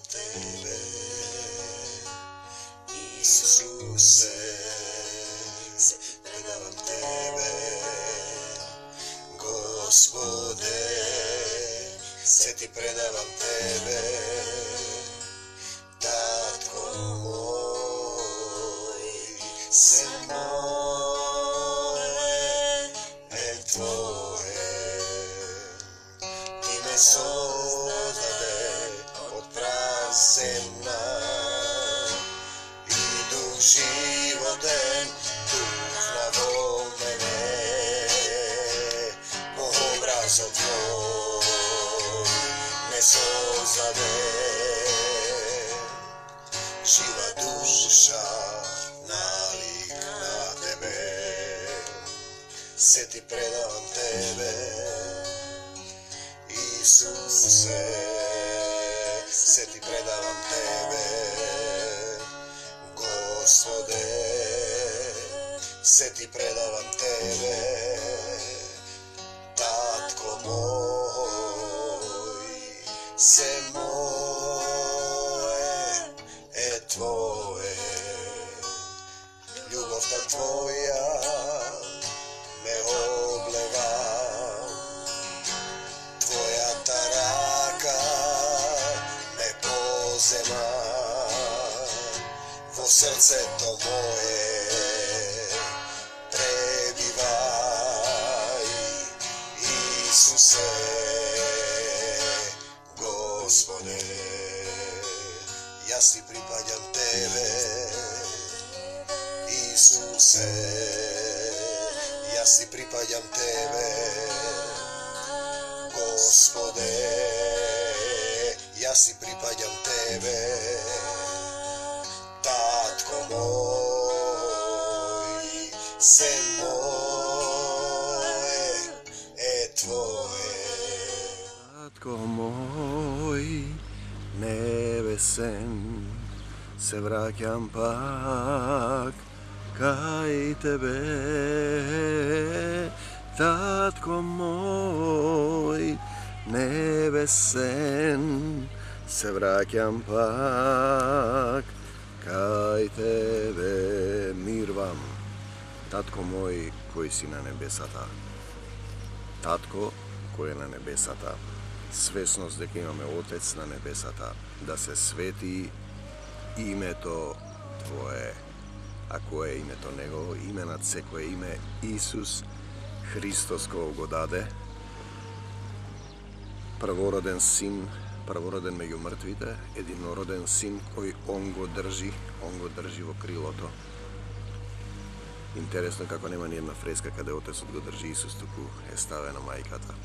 Тебе, Исусе, се предавам Тебе, Господе, се Ти предавам Тебе, Татко мој, се мое е Твое, Ти ме создаде од прав земна, животен дуфна во мене, по образот Твој ме создаде. Жива душа налик на Тебе, се Ти предавам Тебе, Исусе, се Ти предавам Тебе, Господе, се Ти предавам Тебе, Татко мој, се мое е Твое, љубовта Твоја ме облева, Твојата рака ме позема, во срцето мое пребивај, Исусе, Господе, јас Ти припаѓам Тебе, Исусе, јас Ти припаѓам Тебе, Господе, јас Ти припаѓам Тебе, Татко мој, се мое е Твое. Татко мој небесен, се враќам пак кај Тебе. Татко мој небесен, се враќам пак кај Тебе. Мирвам, Татко мој кој си на небесата. Татко кој е на небесата. Свесност дека имаме Отец на небесата, да се свети името Твое. А кое е името Негово? Име над секое име, Исус Христос кој го даде, првороден син, првороден меѓу мртвите, единороден син кој он го држи во крилото. Интересно како нема ни една фреска каде Отецот го држи Исус, туку е ставена мајката.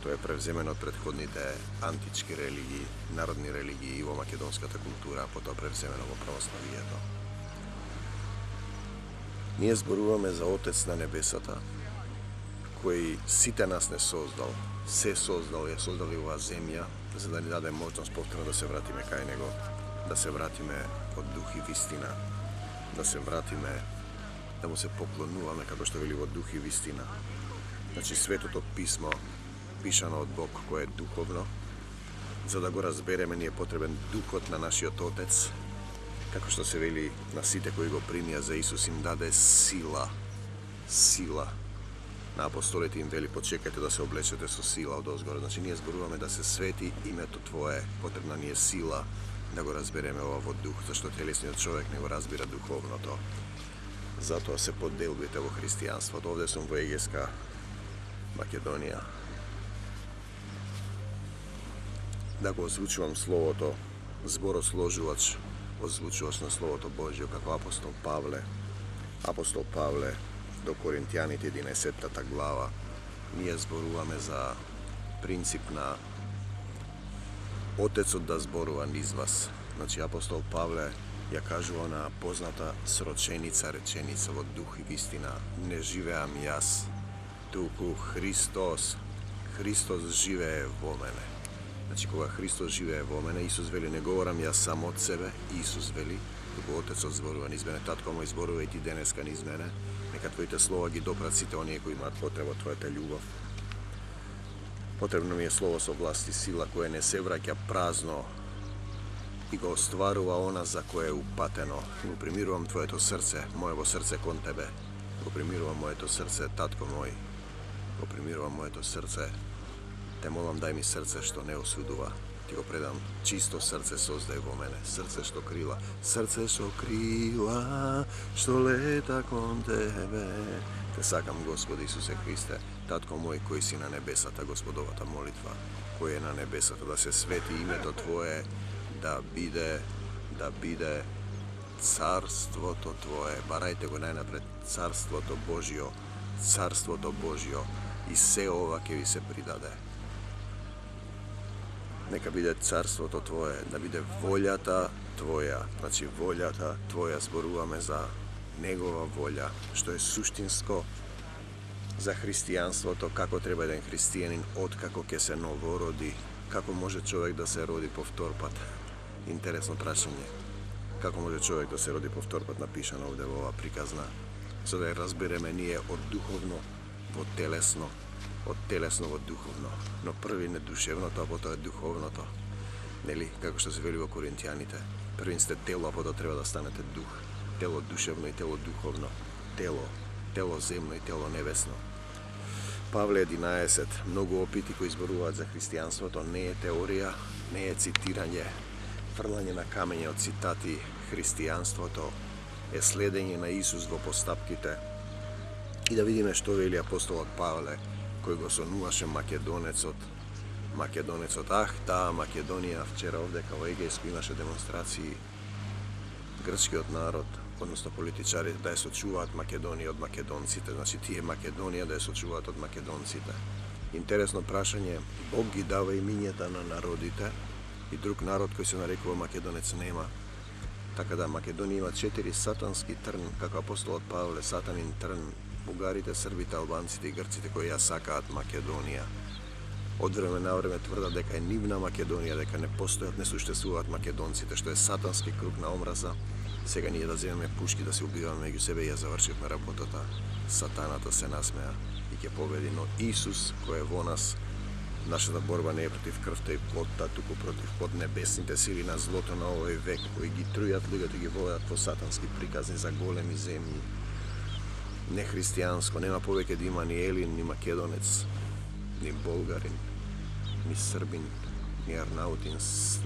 Тоа е превземено од претходните антички религии, народни религии и во македонската култура, а потоа превземено во православието. Ние зборуваме за Отец на небесата, кој сите нас не создал, се создал, ја создал и оваа земја, за да ни даде можност повторно да се вратиме кај Него, да се вратиме од дух и вистина, да се вратиме, да му се поклонуваме, како што вели во дух и вистина. Значи, Светото Писмо, пишано од Бог, кој е духовно, за да го разбереме, ни е потребен духот на нашиот Отец, како што се вели на сите кои го примија за Исус, им даде сила. Сила. На апостолите им вели, почекајте да се облечете со сила од озгоре. Значи, ние зборуваме да се свети името Твое, потребна ни е сила да го разбереме ова во дух, зашто телесниот човек не го разбира духовното. Затоа се подделбите во христијанството. Овде сум во Егејска Македонија. Да го озвучувам словото, зборосложувач, озвучувач на Словото Божјо, како апостол Павле. Апостол Павле до Коринтијаните 11 глава. Ние зборуваме за принцип на Отецот да зборува низ вас. Значи, апостол Павле ја кажува на позната реченица во дух и вистина. Не живеам јас, туку Христос. Христос живее во мене. Значи, кога Христос живее во мене, Исус вели, не говорам јас сам од себе, Исус вели, туку Отецот зборува низ мене. Татко мој, зборува и ти денеска низ мене. Нека Твоите слова ги допрат сите оние кои имаат потреба од Твојата љубов. Потребно ми е слово со власт и сила, кое не се враќа празно и го остварува она за кое е упатено. Го примирувам твоето срце, моево срце кон тебе. Го примирувам моето срце, татко мој. Го примирувам моето срце. Те молам, дај ми срце што не осудува. Ти го предам, чисто срце создај во мене. Срце што крила, што лета кон тебе. Те сакам, Господи Исусе Христе, татко мој кој си на небесата, Господовата молитва, кој е на небесата, да се свети името Твое, да биде царството Твое. Барајте го најнапред царството Божјо и се ова ќе ви се придаде. Нека биде царството Твое, да биде волјата Твоја. Значи волјата Твоја, зборуваме за Негова волја, што е суштинско за христијанството, како треба еден христијанин откако ќе се новороди, како може човек да се роди повтор пат. Интересно прашање. Како може човек да се роди повтор пат, напишано овде во ова приказна, за да ја разбереме ние од духовно во телесно, од телесно во духовно, но први не душевното, а потоа духовното. Нели, како што се вели во Коринтијаните, први сте тело, а потоа треба да станете дух. Тело душевно и тело духовно. Тело земно и тело небесно. Павле 11, многу опити кои зборуваат за христијанството, не е теорија, не е цитирање, фрлање на камење од цитати. Христијанството е следење на Исус во постапките. И да видиме што вели апостолот Павле, кој го сонуваше македонецот. Таа Македонија, вчера овде као Егејско имаше демонстрации. Грчкиот народ, односно политичари, да ја сочуваат Македонија од македонците, значи тие Македонија да ја сочуваат од македонците. Интересно прашање, Бог ги дава имињата на народите и друг народ кој се нарекува македонец нема. Така да Македонија има 4 сатански трн, како апостолот Павле, сатанин трн, бугарите, србите, албанците и грците кои ја сакаат Македонија. Од време на време тврдат дека е нивна Македонија, дека не постојат, не существуваат македонците, што е сатански круг на омраза. Сега ние да земеме пушки да се убиваме меѓу себе и ја завршивме работата. Сатаната се насмеа и ќе победи, но Исус кој е во нас, нашата борба не е против крвта и плотта, туку против поднебесните сили на злото на овој век, кои ги трујат луѓето, ги водат во сатански приказни за големи земји. Не христијанско, нема повеќе да има ни елин, ни македонец, ни болгарин, ни србин, ни арнаутин,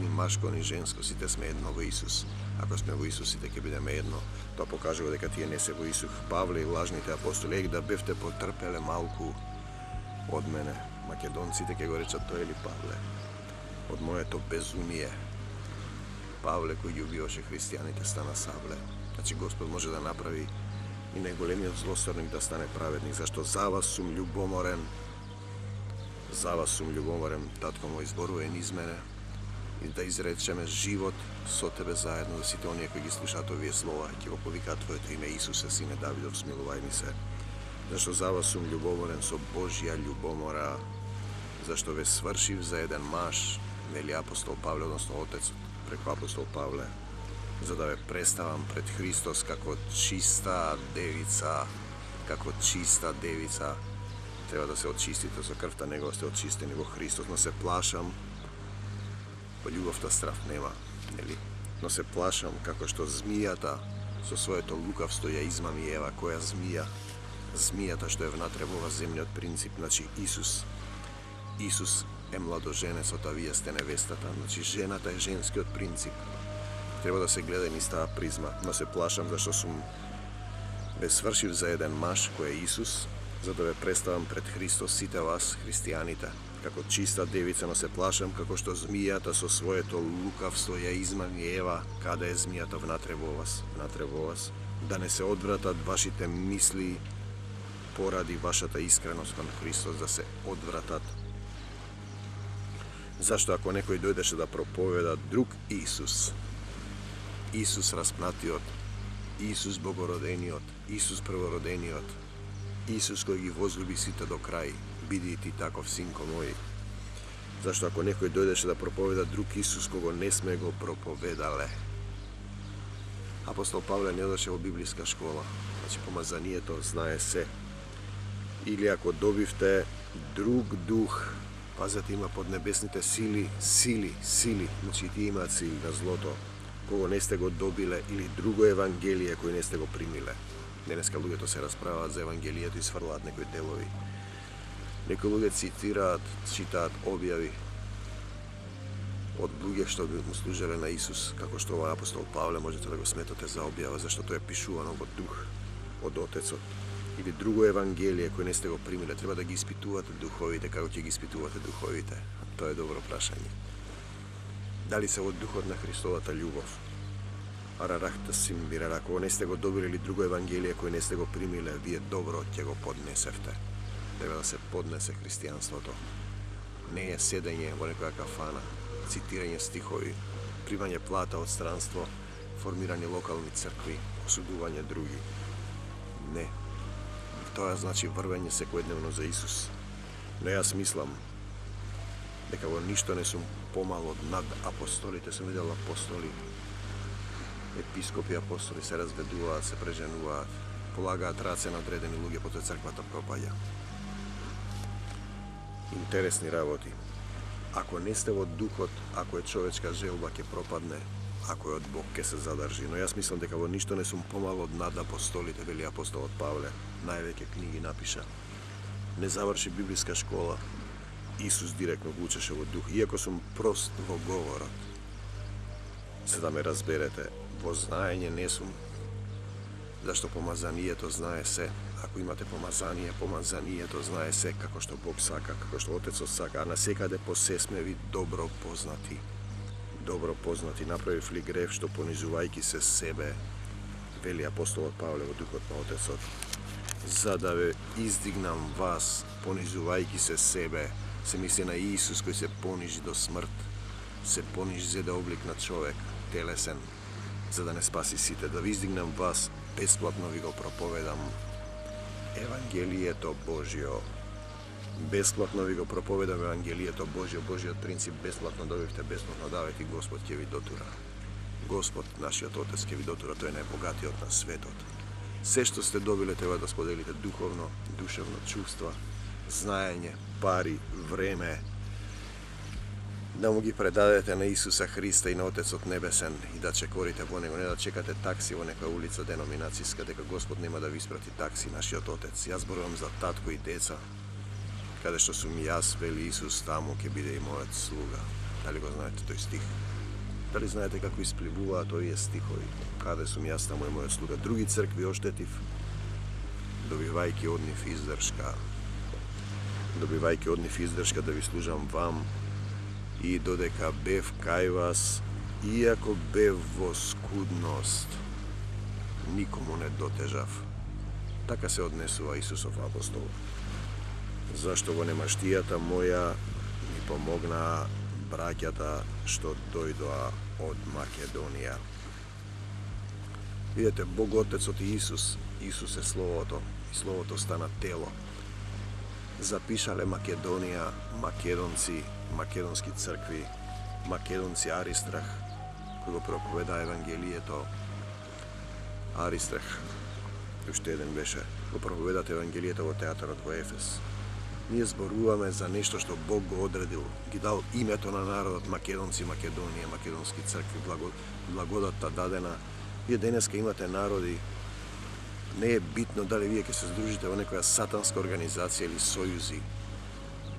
ни машко, ни женско, сите сме едно во Исус. Ако сме во Исус, сите ќе бидеме едно. Тоа покажува дека тие не се во Исус. Павле и лажните апостоли, да бевте потрпеле малку од мене. Македонците ќе го речат тоа или Павле. Од моето безумие. Павле кој ги убиваше христијаните стана Савле. Значи Господ може да направи и најголемиот злосторник да стане праведник, зашто за вас сум љубоморен. Татко мој зборува низ мене и да изречеме живот со тебе заедно, за сите оние кои ги слушаат овие слова и ќе го повикаат Твоето име Исусе, Сине Давидов, смилувај ми се. Зашто за вас сум љубоморен со Божја љубомора, зашто ве свршив за еден маж, вели апостол Павле, односно Отецот, преку апостол Павле, за да ве представам пред Христос како чиста девица, треба да се очистите со крвта Негова, сте очистени во Христос, но се плашам, по љубовта страф нема, нели? Но се плашам како што змијата со своето лукавство ја измами Ева, која змијата што е внатре во земниот принцип, значи Исус е младоженецот, а вие сте невестата, значи жената е женскиот принцип. Треба да се гледа низ таа призма, но се плашам зашто сум ве свршив за еден маж кој е Исус, за да ве представам пред Христос сите вас, христијаните, како чиста девица, но се плашам како што змијата со своето лукавство ја измами Ева. Каде е змијата? Внатре во вас, да не се одвратат вашите мисли поради вашата искреност кон Христос, да се одвратат. Зашто ако некој дојдеше да проповеда друг Исус распнатиот, Исус богородениот, Исус првородениот, Исус кој ги возлюби сите до крај, биди и ти таков, синко мој. Зашто ако некој дојдеше да проповеда друг Исус кого не сме го проповедале. Апостол Павле не одеше во библиска школа, значи помазанието знае се. Или ако добивте друг дух, Пазете, има поднебесните сили, значи тие имаат сили на злото, кого не сте го добиле, или друго евангелие кој не сте го примиле. Денеска луѓето се расправаат за евангелието и сврлаат некои делови. Некои луѓе цитираат, читаат објави од луѓе што би му служеле на Исус, како што ова апостол Павле можете да го сметате за објава, зашто тоа е пишувано во дух од Отецот. Или друго евангелие кој не сте го примиле, треба да ги испитувате духовите, како ќе ги испитувате духовите. Тоа е добро прашање. Дали се во духот на Христовата љубов? Арарахта сим бирара, ако не сте го добили или друго евангелие кој не сте го примиле, вие добро ќе го поднесевте. Треба да се поднесе христијанството. Не е седење во некоја кафана, цитирање стихови, примање плата од странство, формирање локални цркви, осудување други. Не. Тоа значи врвење секојдневно за Исус. Но јас мислам дека во ништо не сум помало над апостолите. Сум видел апостоли, епископи апостоли се разведуваат, се преженуваат, полагаат раце на одредени луѓе, потоа црквата пропаѓа. Интересни работи. Ако не сте во духот, ако е човечка желба, ќе пропадне, ако е од Бог, ќе се задржи. Но јас мислам дека во ништо не сум помало од над апостолите, вели апостолот Павле. Највеќе книги напиша. Не заврши библиска школа. Исус директно го учеше во дух. Иако сум прост во говорот, за да ме разберете, во знаење не сум. Зашто помазанието знае се. Ако имате помазание, помазанието знае се како што Бог сака, како што Отецот сака, а насекаде по се сме ви добро познати. Добро познати, направив ли грев што понизувајќи се себе, вели апостолот Павле во духот на Отецот, за да ве издигнам вас, понизувајќи се себе, се мисли на Исус кој се понижи до смрт, се понижи за да облик на човек, телесен, за да не спаси сите, да ви издигнам вас, бесплатно ви го проповедам Евангелието Божјо. Бесплатно ви го проповедам Евангелието Божјо, Божјиот принцип, бесплатно добивте, бесплатно давете и Господ ќе ви дотура. Господ, нашиот Отец, ќе ви дотура, тој е најбогатиот на светот. Се што сте добиле треба да споделите духовно, душевно, чувства, знаење, пари, време, да му ги предадете на Исуса Христа и на Отецот Небесен и да чекорите во Него, не да чекате такси во некоја улица деноминацијска, дека Господ нема да ви испрати такси, нашиот Отец. Јас зборувам за татко и деца, каде што сум јас, вели Исус, таму ќе биде и мојот слуга. Дали го знаете тој стих? Дали знаете како испливуваат овие стихови? Каде сум јас, таму е мојот слуга. Други цркви оштетив, добивајќи од нив издршка да ви служам вам, и додека бев кај вас, иако бев во скудност, никому не дотежав. Така се однесува Исусов апостол. Зашто во немаштијата моја ми помогнаа браќата што дојдоа од Македонија. Видете, Бог Отецот и Исус е Словото, и Словото стана тело. Запишале Македонија, македонци, македонски цркви, македонци Аристрах, кој го проповеда Евангелието. Аристрах, уште еден беше, го проповедат Евангелието во театарот во Ефес. Ние зборуваме за нешто што Бог го одредил, ги дал името на народот македонци, Македонија, македонски цркви, благодатта дадена. Вие денеска имате народи, не е битно дали вие ќе се здружите во некоја сатанска организација или сојузи.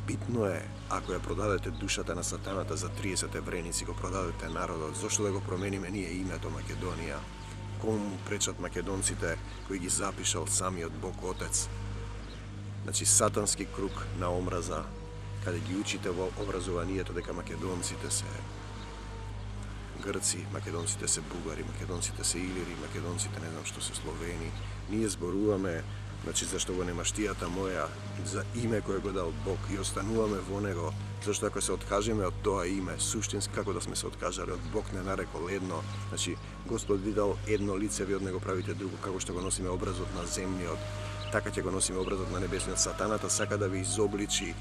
Битно е, ако ја продадете душата на сатаната за 30 евреници, го продадете народот, зошто да го промениме ние името Македонија? Кому му пречат македонците кои ги запишал самиот Бог Отец? Значи, сатански круг на омраза, каде ги учите во образованието дека македонците се грци, македонците се бугари, македонците се илири, македонците не знам што се словени. Ние зборуваме, значи, зашто во немаштијата моја, за име кое го дал Бог и остануваме во Него, зашто ако се откажеме од тоа име, суштински како да сме се откажале од Бог не нарекол едно, значи, Господ ви дал едно лице, ви од Него правите друго, како што го носиме образот на земниот, така ќе го носиме образот на небесниот. Сатаната сака да ви изобличи,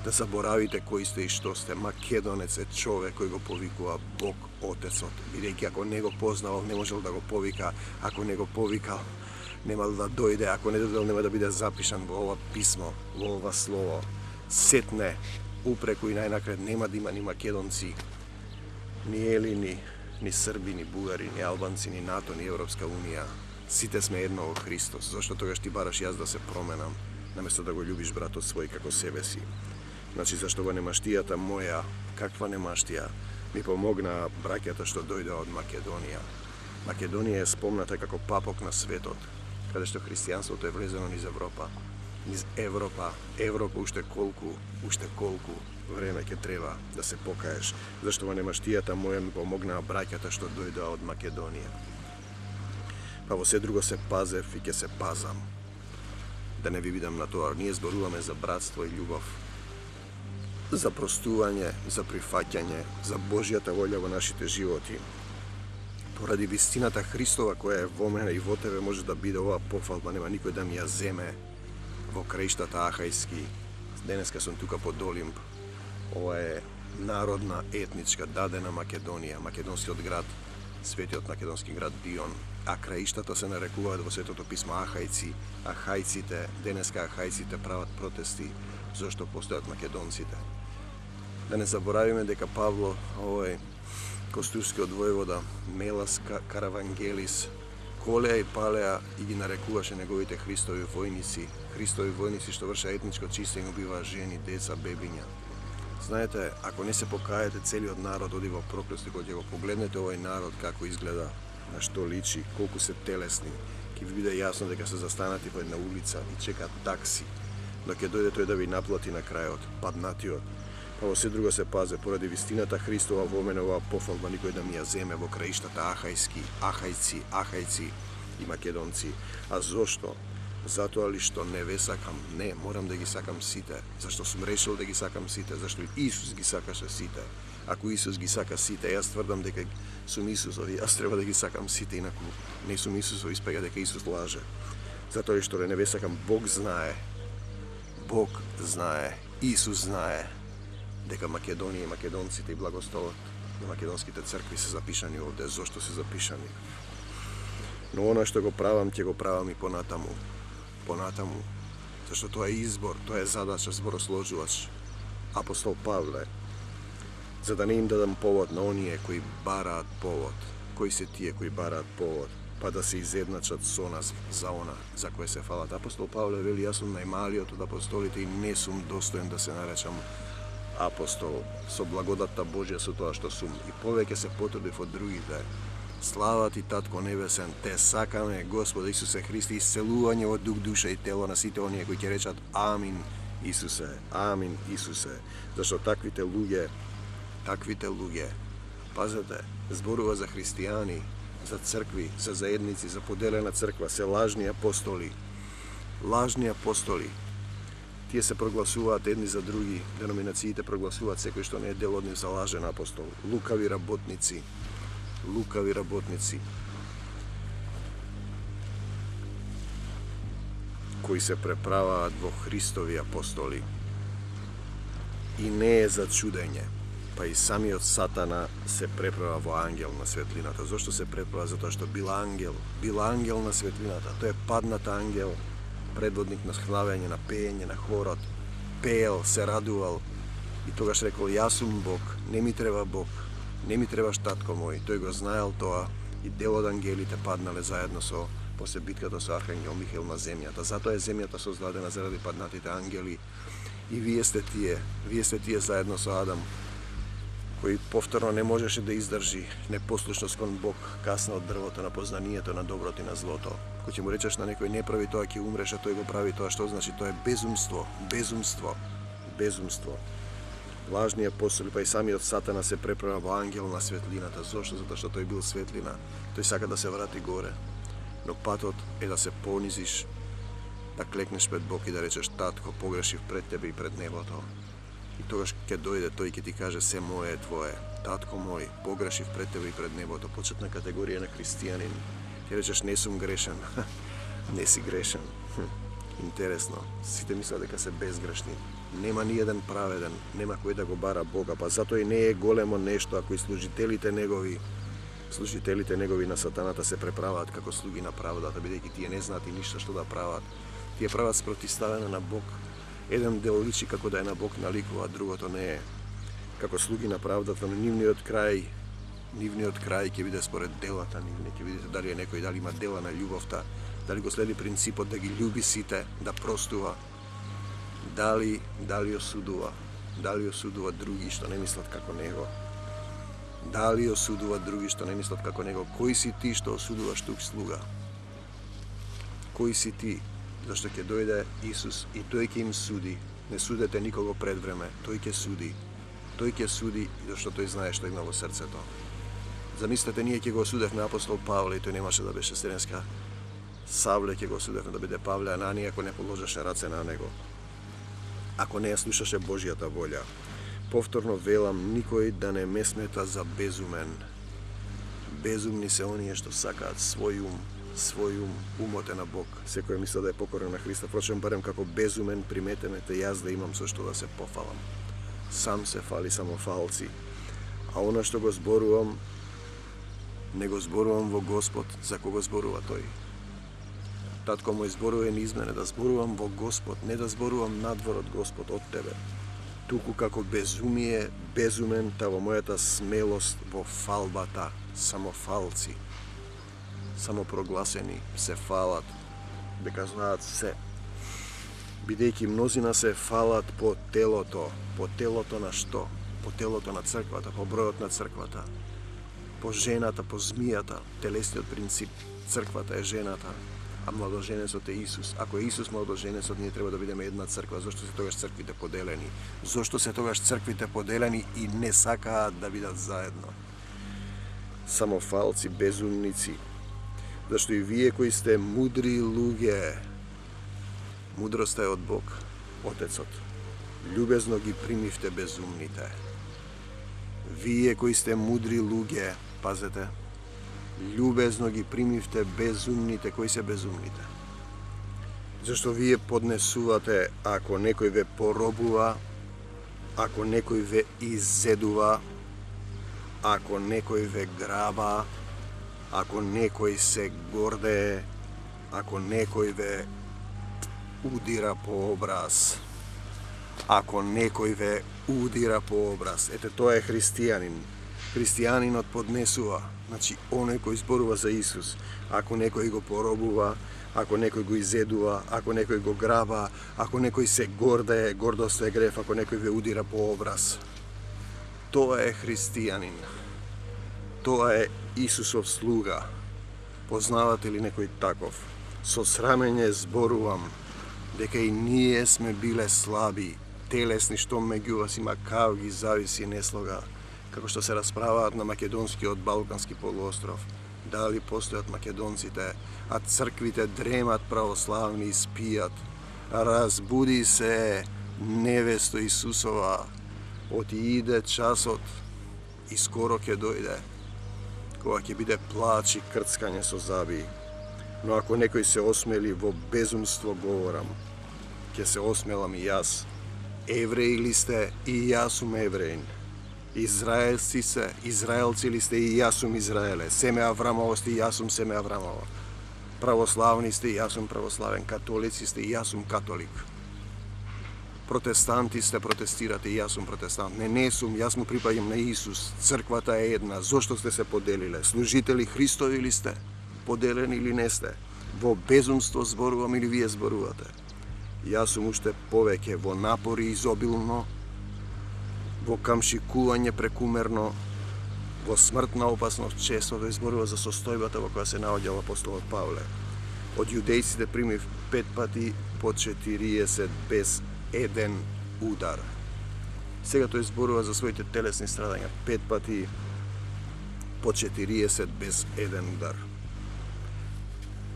да заборавите кои сте и што сте. Македонец е човек кој го повикува Бог Отецот, бидејќи ако не го познавал, не можел да го повика, ако не го повикал, немал да дојде, ако не дојдел, нема да биде запишан во ова писмо, во ова слово. Сетне упреку и најнакрај нема да има ни македонци, ни елини, ни срби, ни бугари, ни албанци, ни НАТО, ни Европска унија. Сите сме едно во Христос. Зошто тогаш ти бараш јас да се променам, наместо да го љубиш братот свој како себе си? Значи, зашто во немаштијата моја, каква немаштија, ми помогна браќата што дојдоа од Македонија. Македонија е спомната како папок на светот, каде што христијанството е влезено низ Европа. Низ Европа, уште колку време ќе треба да се покаеш, зашто во немаштијата моја ми помогнаа браќата што дојдоа од Македонија. Па во се друго се пазев и ќе се пазам. Да не ви бидам на тоа, ние зборуваме за братство и љубов, за простување, за прифаќање, за Божјата волја во нашите животи. Поради вистината Христова која е во мене и во тебе може да биде оваа пофалба, нема никој да ми ја земе во краиштата Ахајски. Денеска сум тука под Олимп. Ова е народна, етничка, дадена Македонија, македонскиот град, светиот македонски град Бион. А краиштата се нарекуваат во Светото писмо Ахајци. Ахајците, денеска Ахајците прават протести зашто постојат македонците. Да не заборавиме дека Павло, овој костурскиот војвода, Мелас Каравангелис, колеа и палеа и ги нарекуваше неговите Христови војници што вршеа етничко чистење, убиваа жени, деца, бебиња. Знаете, ако не се покаете, целиот народ оди во проклество. Кога ќе го погледнете овој народ како изгледа, на што личи, колку се телесни, ќе ви биде јасно дека се застанати во една улица и чекаат такси, но ќе дојде тој да ви наплати на крајот, паднатиот. А во се друго се пазе, поради вистината Христова во мене оваа пофалба никој да ми ја земе во краиштата Ахајски, Ахајци и македонци. А зошто? Затоа ли што не ве сакам? Не, морам да ги сакам сите. Зашто сум решил да ги сакам сите? Зашто Исус ги сакаше сите. Ако Исус ги сака сите, јас тврдам дека сум Исусов и јас треба да ги сакам сите, инаку не сум Исусов, испега дека Исус лаже. Затоа ли што не ве сакам, Бог знае, Исус знае дека Македонија и македонците и благословот на македонските цркви се запишани овде. Зошто се запишани? Но она што го правам, ќе го правам и понатаму, зашто тоа е избор, тоа е задача, зборосложувач. Апостол Павле, за да не им дадам повод на оние кои бараат повод. Кои се тие кои бараат повод? Па да се изедначат со нас за она за кое се фалат. Апостол Павле вели, јас сум најмалиот од апостолите и не сум достоен да се наречам апостол, со благодатта Божја, со тоа што сум. И повеќе се потрудив од другите. Слава ти, Татко Небесен, те сакаме, Господе Исусе Христе, исцелување во дух, душа и тело на сите оние кои ќе речат Амин, Исусе, Амин, Исусе. Зашто таквите луѓе, пазете, зборува за христијани, за цркви, за заедници, за поделена црква, се лажни апостоли. Тие се прогласуваат едни за други, деноминациите прогласуваат секој што не е дел од нив за лажен апостол. Лукави работници, кои се преправаат во Христови апостоли. И не е за чудење, па и самиот Сатана се преправа во ангел на светлината. Зошто се преправа? Затоа што бил ангел на светлината. Тој е паднат ангел, предводник на славење, на пеење, на хорот, пеел, се радувал и тогаш рекол, јас сум Бог, не ми треба Бог, не ми требаш татко мој. Тој го знаел тоа и дел од ангелите паднале заедно со после битката со архангел Михаил на земјата. Затоа е земјата создадена заради паднатите ангели и вие сте тие заедно со Адам, кој повторно не можеше да издржи непослушност кон Бог, касна од дрвото на познанието на доброто и на злото. Кој ќе му речеш на некој не прави тоа, ќе умреш, а тој го прави тоа, што значи? Тоа е безумство. Лажни апостоли, па и самиот Сатана се преправа во ангел на светлината. Зошто? Затоа што тој бил светлина. Тој сака да се врати горе. Но патот е да се понизиш, да клекнеш пред Бог и да речеш, татко, погрешив пред тебе и пред небото. И тогаш ќе дојде тој и ќе ти каже, се мое е твое. Татко мој, погрешив пред тебе и пред небото. Почетна категорија на христијанин. Ти речеш, не сум грешен. Не си грешен. Интересно. Сите мислат дека се безгрешни. Нема ни еден праведен, нема кој да го бара Бога, па затоа и не е големо нешто ако и служителите негови на сатаната се преправаат како слуги на правдата, бидејќи тие не знаат и ништо што да прават. Тие прават спротивставено на Бог, Еден дел личи како да е на Бог наликува, другото не е. Како слуги на правдата, но нивниот крај ќе биде според делата нивни, ќе видите дали е некој, дали има дела на љубовта, дали го следи принципот да ги љуби сите, да простува, дали осудува други што не мислат како него. Дали осудува други што не мислат како него. Кој си ти што осудуваш тук слуга? Кој си ти? Зашто ќе дојде Исус и тој ќе им суди. Не судете никого пред време, тој ќе суди. Тој ќе суди зашто тој знае што има во срцето. Замислете, ние ќе го осудевме апостол Павле и тој немаше да беше стренска. Савле ќе го осудевме да биде Павле, Ананија ако не положеше раце на него. Ако не ја слушаше Божјата волја. Повторно велам, никој да не ме смета за безумен. Безумни се оние што сакаат свој ум, умот е на Бог. Секој мисли да е покорен на Христа, впрочем барем како безумен приметеме те јас да имам со што да се пофалам. Сам се фали самофалци. А она што го зборувам, не го зборувам во Господ, за кого зборува тој. Татко мој зборува низ мене да зборувам во Господ, не да зборувам надвор од Господ, од тебе. Туку како безумен, та во мојата смелост во фалбата, самофалци, самопрогласени, се фалат, дека знаат се. Бидејќи мнозина се фалат по телото на што? По телото на црквата, по бројот на црквата, по жената, по змијата, телесниот принцип, црквата е жената, а младоженецот е Исус. Ако е Исус младоженецот, ние треба да бидеме една црква. Зошто се тогаш црквите поделени? Зошто се тогаш црквите поделени и не сакаат да бидат заедно? Самофалци, безумници. Зашто и вие кои сте мудри луѓе, мудроста е од Бог, Отецот. Љубезно ги примивте безумните. Вие кои сте мудри луѓе, пазете, љубезно ги примивте безумните. Кои се безумните? Зашто вие поднесувате ако некој ве поробува, ако некој ве иззедува, ако некој ве граба, ако некој се гордее, ако некој ве удира по образ, ако некој ве удира по образ. Ете, тоа е христијанин. Христијанинот поднесува, значи оној кој зборува за Исус. Ако некој го поробува, ако некој го изедува, ако некој го граба, ако некој се гордее, гордост е грев, ако некој ве удира по образ. Тоа е христијанин. Тоа е Исусов слуга. Познавате ли некој таков? Со срамење зборувам дека и ние сме биле слаби, телесни, што меѓу вас има кавги, зависи, неслога, како што се расправаат на македонскиот балкански полуостров. Дали постојат македонците, а црквите дремат православни и спијат. Разбуди се, невесто Исусова, оти иде часот и скоро ќе дојде, кога ќе биде плач и крцкање со заби. Но ако некој се осмели во безумство говорам, ќе се осмелам и јас. Евреи ли сте, и јас сум евреин. Израелци ли сте, и јас сум Израеле. Семе Аврамово сте, и јас сум семе Аврамово. Православни сте, и јас сум православен. Католици сте, и јас сум католик. Протестанти сте, протестирате, и јас сум протестант. Не сум, јас му припаѓам на Исус. Црквата е една. Зошто сте се поделиле? Служители Христови ли сте? Поделени или не сте? Во безумство зборувам или вие зборувате? Јас сум уште повеќе во напори изобилно, во камшикување прекумерно, во смртна опасност често. Тој зборува за состојбата во која се наоѓал апостолот Павле. Од јудејците примив 5 пати по 40 без еден удар. Сега тој зборува за своите телесни страдања 5 пати по 40 без еден удар.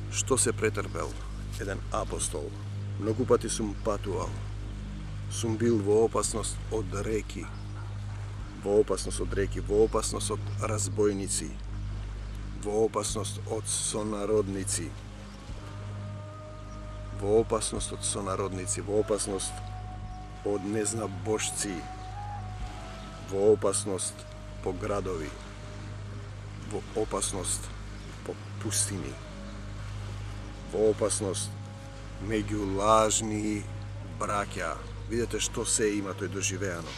Што се претрпел еден апостол? Многу пати сум патувал. Сум бил во опасност од реки, во опасност од разбойници, во опасност од сонародници, во опасност од незнабожци, во опасност по градови, во опасност по пустини, во опасност меѓу лажни браќа, видете што се има тој доживеано.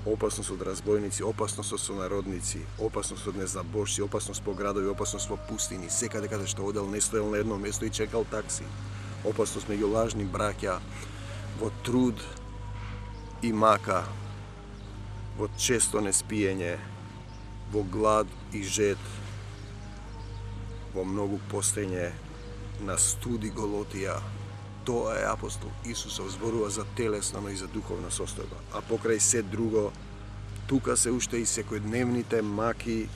Опасност од разбойници, опасност од сонародници, опасност од незабожци, опасност по градови, опасност по пустини, секаде каде што одел не стоел на едно место и чекал такси. Опасност меѓу лажни браќа, во труд и мака, во често неспиење, во глад и жед, во многу постоење, на студи голотија. Тоа е апостол Исусов, зборува за телесна, но и за духовна состојба. А покрај се друго, тука се уште и секојдневните маки,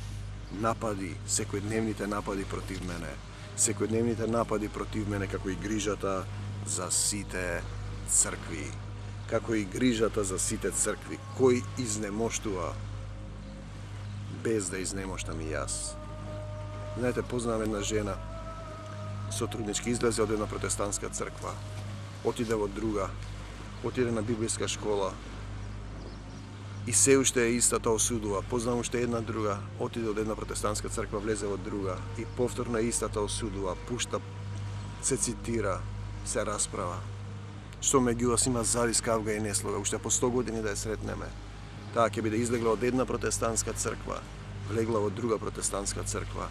напади, секојдневните напади против мене. Секојдневните напади против мене, како и грижата за сите цркви. Како и грижата за сите цркви. Кој изнемоштува без да изнемоштам и јас. Знаете, познавам една жена, сотруднички, излезе од една протестантска црква, отиде во друга, отиде на библиска школа и се уште е истата осудува. Познавам уште една друга, отиде од една протестантска црква, влезе во друга и повторно е истата осудува, пушта, се цитира, се расправа. Што меѓу вас има завис, кавга и неслога, уште по 100 години да ја сретнеме. Таа ќе биде излегла од една протестантска црква, влегла во друга протестантска црква.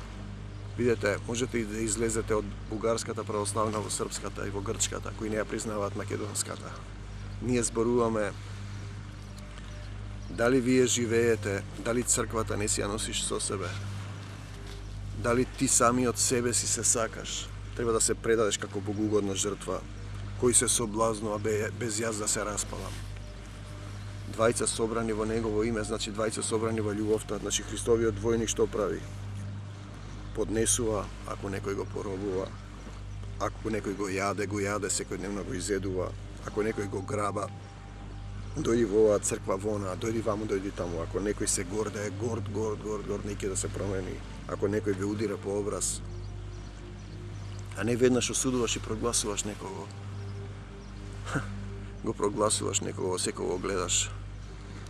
Видете, можете и да излезете од бугарската православна во српската и во грчката, кои не ја признаваат македонската. Ние зборуваме дали вие живеете, дали црквата не си ја носиш со себе, дали ти сами од себе си се сакаш, треба да се предадеш како богугодна жртва, кој се соблазнува без јас да се распалам. Двајца собрани во Негово име, значи двајца собрани во љубовта, значи Христовиот двојник што прави? Поднесува, ако некој го поробува, ако некој го јаде, секојдневно го изедува, ако некој го граба, дојди во оваа црква вона, дојди ваму, дојди таму, ако некој се горде, горд, неќе да се промени, ако некој ве удира по образ, а не веднаш осудуваш и прогласуваш некого, го прогласуваш некого, секого гледаш,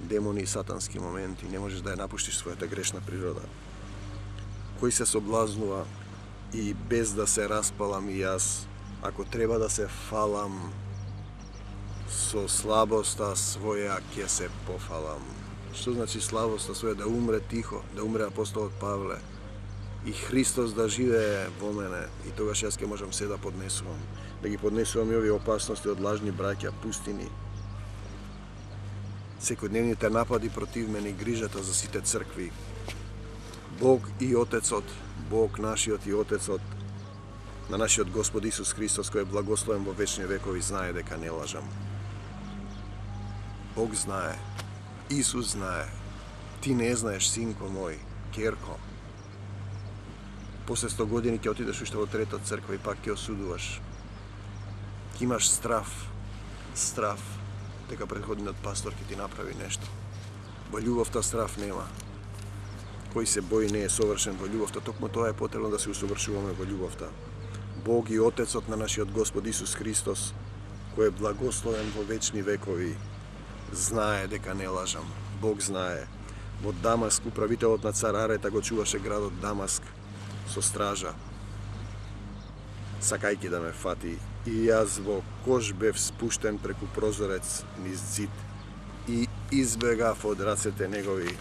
демони и сатански моменти, не можеш да ја напуштиш својата грешна природа. Кој се соблазнува и без да се распалам и јас, ако треба да се фалам, со слабоста своја ќе се пофалам. Што значи слабоста своја? Да умре тихо, да умре апостолот Павле и Христос да живее во мене и тогаш јас ќе можам се да поднесувам. Да ги поднесувам и овие опасности од лажни браќа, пустини, секојдневните напади против мене и грижата за сите цркви. Бог и Отецот, Бог нашиот и Отецот на нашиот Господ Исус Христос, кој е благословен во вечни векови, знае дека не лажам. Бог знае, Исус знае, ти не знаеш, синко мој, керко. После 100 години ќе отидеш уште во трета црква и пак ќе осудуваш. Ќе имаш страв, дека претходниот пастор ќе ти направи нешто. Во љубовта страв нема. Кој се бои не е совршен во љубовта, токму тоа е потребно да се усовршуваме во љубовта. Бог и Отецот на нашиот Господ Исус Христос, кој е благословен во вечни векови, знае дека не лажам. Бог знае. Во Дамаск управителот на цар Арета го чуваше градот Дамаск со стража, сакајќи да ме фати, и јас во кош бев спуштен преку прозорец низ зид и избегав од рацете негови.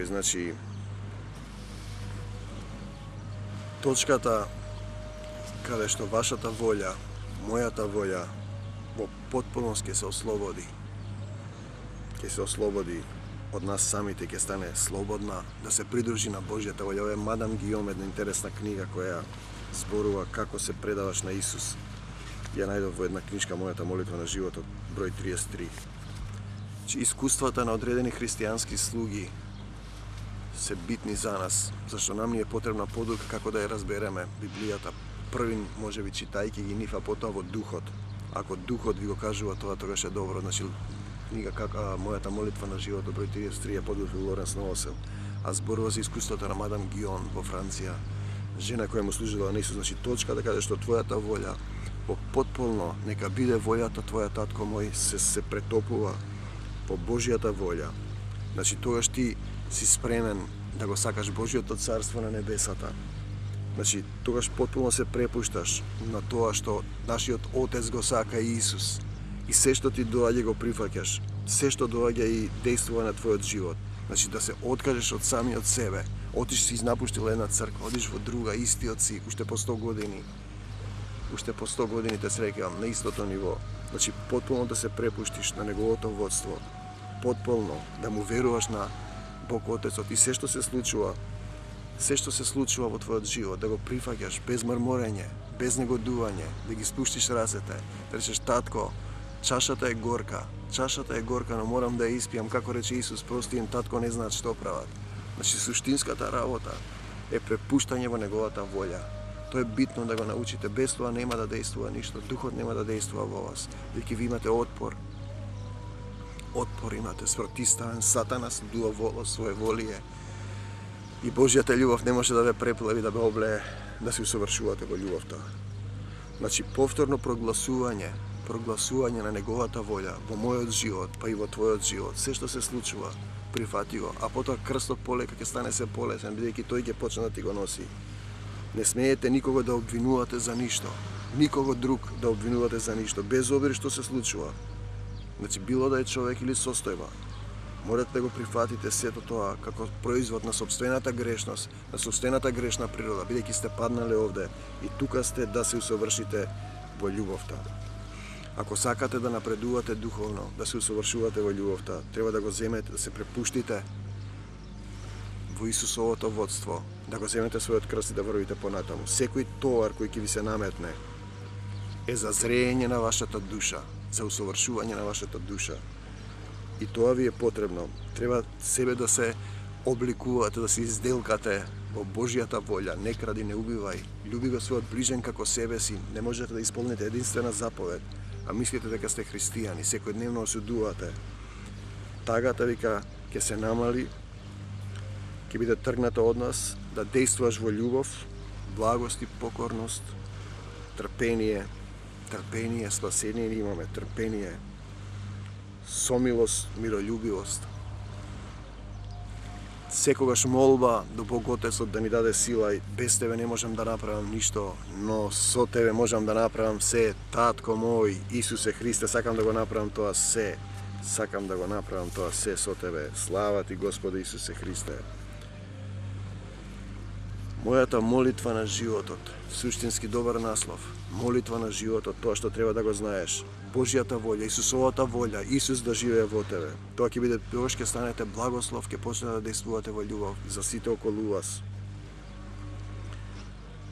Значи, точката каде што вашата волја, мојата волја, во потполност ќе се ослободи. Ќе се ослободи од нас самите, ќе стане слободна, да се придружи на Божјата волја. Ова е Мадам Гиом, една интересна книга која зборува како се предаваш на Исус. Ја најдов во една книжка Мојата молитва на животот, број 33. Искуствата на одредени христијански слуги се битни за нас, зашто нам ни е потребна подука како да ја разбереме Библијата. Првин, можеби читајќи ги нив, а потоа во духот. Ако духот ви го кажува тоа, тогаш е добро. Значи, книга Мојата молитва на животот, број 33, ја подготвил Лоренс Новосел. А зборува за искуството на Мадам Гион во Франција, жена која му служила на Исус. Значи, точка да кажеш што твојата волја, по потполно, нека биде волјата твоја, татко мој, се претопува по Божјата волја. Значи, тогаш ти си спремен да го сакаш Божјото царство на небесата Значи, тогаш потполно се препушташ на тоа што нашиот Отец го сака Исус. И се што ти доаѓа го прифаќаш. Се што доаѓа и действува на твојот живот. Значи, да се откажеш од самиот себе. Отиш си напуштил една црква, одиш во друга, истиот си, уште по 100 години. Уште по 100 години те среќавам на истото ниво. Значи, потполно да се препуштиш на неговото водство. Потполно да му веруваш на Бог Отецот и се што се случува во твојот живот, да го прифаќаш без мрморење, без негодување, да ги спуштиш рацете, да речеш: татко, чашата е горка, но морам да ја испијам, како рече Исус, прости им, татко, не знаат што прават. Значи, суштинската работа е препуштање во неговата волја. Тоа е битно да го научите, без тоа нема да действува ништо, духот нема да действува во вас, бидејќи ви имате отпор. Отпор имате, спротивставен, Сатана дува воло, своје волие. И Божјата љубов не може да ве преплави, да ве облее, да се усовршувате во љубовта. Значи, повторно прогласување на неговата волја во мојот живот, па и во твојот живот. Се што се случува, прифати го, а потоа крстот полека ќе стане се полесен, бидејќи тој ќе почне да ти го носи. Не смеете никого да обвинувате за ништо, никого друг да обвинувате за ништо, без обир што се случува. Значи, било да е човек или состојба, морате да го прифатите сето тоа како производ на собствената грешност, на собствената грешна природа, бидејќи сте паднале овде и тука сте да се усовршите во љубовта. Ако сакате да напредувате духовно, да се усовршувате во љубовта, треба да го земете, да се препуштите во Исусовото водство, да го земете својот крст и да врвите понатаму. Секој товар кој ќе ви се наметне е за зреење на вашата душа, за усовршување на вашата душа. И тоа ви е потребно. Треба себе да се обликувате, да се изделкате во Божјата волја. Не кради, не убивај. Љуби го својот ближен како себе си. Не можете да исполните единствена заповед, а мислите дека сте христијани, секојдневно осудувате. Тагата вика ќе се намали, ќе биде тргната од нас, да действуваш во љубов, благост и покорност, трпение, спасение имаме, трпение, сомилост, мирољубивост. Секогаш молба до Бог Отецот да ни даде сила, и без тебе не можам да направам ништо, но со тебе можам да направам се. Татко мој, Исусе Христе, сакам да го направам тоа се. Сакам да го направам тоа се со тебе. Слава ти, Господи Исусе Христе. Мојата молитва на животот, суштински добар наслов, молитва на животот, тоа што треба да го знаеш. Божјата волја, Исусовата волја, Исус да живее во тебе. Тоа ќе биде, тогаш ќе станете благослов, ќе почнете да действувате во љубов за сите околу вас.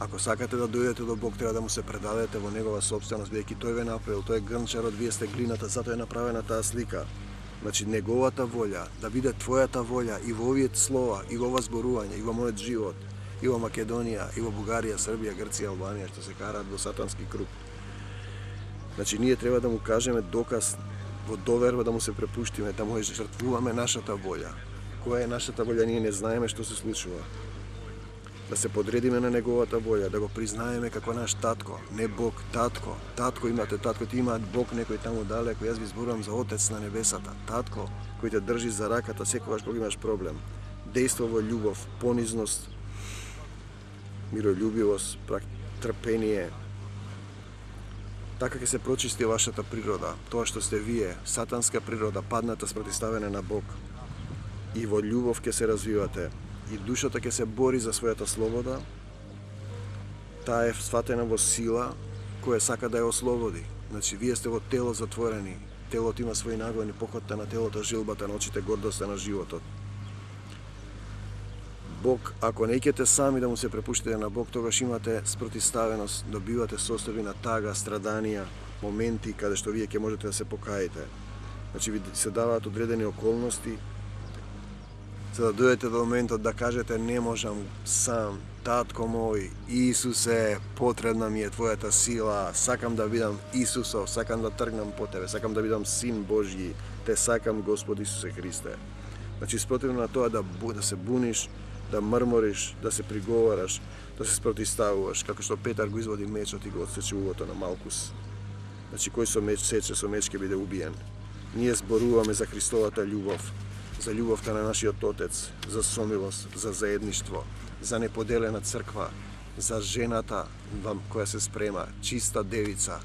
Ако сакате да дојдете до Бог, треба да му се предадете во негова собственост, бидејќи тој ве направил, тој е грнчарот, вие сте глината, затоа е направена таа слика. Значи, неговата волја, да биде твојата волја и во овие слова, и во ова зборување, и во мојот живот, и во Македонија, и во Бугарија, Србија, Грција, Албанија, што се караат во сатански круг. Значи, ние треба да му кажеме доказ во доверба, да му се препуштиме, да му жртвуваме нашата волја. Која е нашата волја, ние не знаеме што се случува. Да се подредиме на неговата волја, да го признаеме како наш татко, не Бог, татко. Татко имате, татко, ти имаат Бог некој таму далеко, јас ви зборувам за Отец на небесата. Татко, кој те држи за раката секогаш кога имаш проблем. Дејства во љубов, понизност, мирољубивост, трпение. Така ќе се прочисти вашата природа, тоа што сте вие, сатанска природа, падната, спротивставена на Бог. И во љубов ќе се развивате. И душата ќе се бори за својата слобода. Таа е сватена во сила која сака да ја ослободи. Значи, вие сте во тело затворени. Телото има своји нагони, похотта на телото, жилбата на очите, гордоста на животот. Бог, ако не икете сами да му се препуштите на Бог, тогаш имате спротивставеност, добивате состојби на тага, страданија, моменти каде што вие ќе можете да се покаите. Значи, ви се даваат одредени околности, за да дојдете до моментот да кажете: не можам сам, татко мој, Исусе, потребна ми е твојата сила, сакам да бидам Исусов, сакам да тргнам по тебе, сакам да бидам син Божји, те сакам, Господи Исусе Христе. Значи, спротивно на тоа да се буниш, да мрмориш, да се приговараш, да се спротивставуваш, како што Петар го изводи мечот и го отсече угото на Малкус. Значи, кој со меч сече, со меч ќе биде убиен. Ние зборуваме за Христовата љубов, за љубовта на нашиот Отец, за сомилост, за заедништво, за неподелена црква, за жената која се спрема, чиста девица,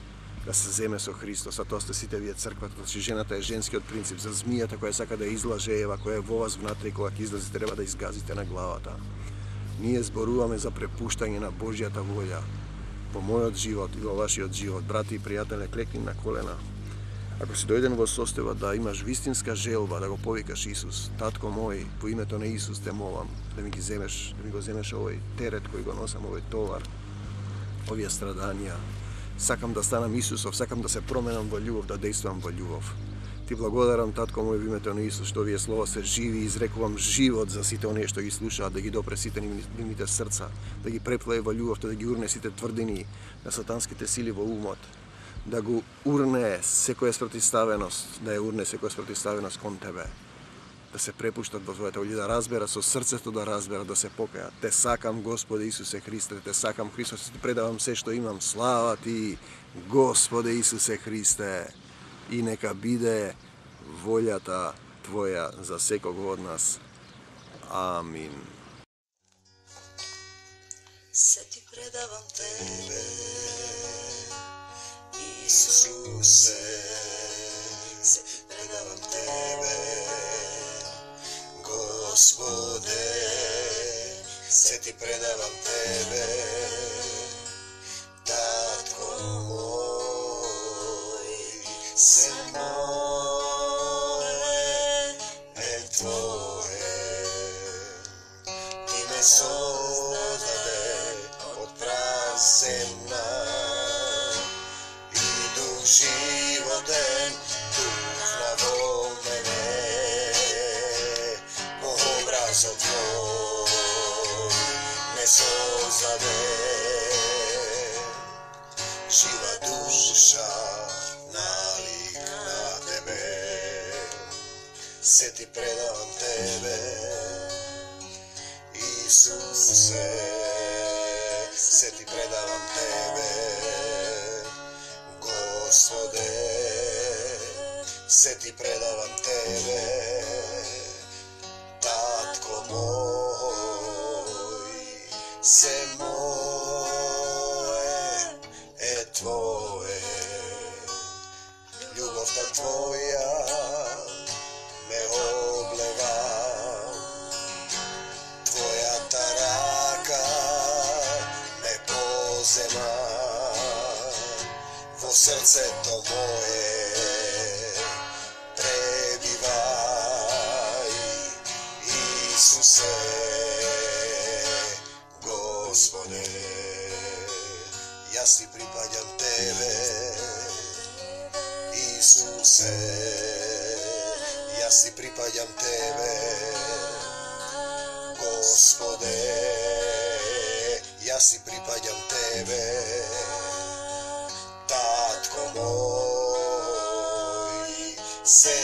да се земе со Христос, а тоа сте сите вие црквата. Значи жената е женскиот принцип, за змијата која сака да излаже Ева, која е во вас внатре, кога ќе излази треба да изгазите на главата. Ние зборуваме за препуштање на Божјата волја во мојот живот и во вашиот живот. Брати и пријатели, клекни на колена. Ако си дојден во состојба да имаш вистинска желба да го повикаш Исус, татко мој, во името на Исус те молам да ми го земеш овој терет кој го носам, овој товар, овие страданија. Сакам да станам Исусов, сакам да се променам во љубов, да действам во љубов. Ти благодарам, татко мој, во името на Исус, што овие слова се живи и изрекувам живот за сите оние што ги слушаат, да ги допре сите нивните срца, да ги преплае во љубовта, да ги урне сите тврдини на сатанските сили во умот, да го урне секоја спротивставеност, да ја урне секоја спротивставеност кон тебе, да се препуштат во твојата волја, да разберат со срцето, да разберат, да се покајат. Те сакам, Господе Исусе Христе, те сакам, Христос, ти предавам се што имам. Слава ти, Господе Исусе Христе, и нека биде волјата Твоја за секого од нас. Амин. Се ти предавам тебе, Исусе, се предавам тебе, Господе, се ти предавам тебе, татко мој, се моје е Твое, ти ме создаде од прав земна, и дух животен тухна во мене, по образот Твој ме создаде, жива душа налик на Тебе, се ти предавам Тебе, Исусе, се ти предавам Тебе, Господе, се ти предавам Тебе, татко мој, се моје е Твое, љубовта Твоја ме облева, Твојата рака ме позема, во срцето мое пребивај, Исусе, Господе, јас ти припаѓам Тебе, Исусе, јас ти припаѓам Тебе, Господе, јас ти припаѓам Тебе, татко мој, се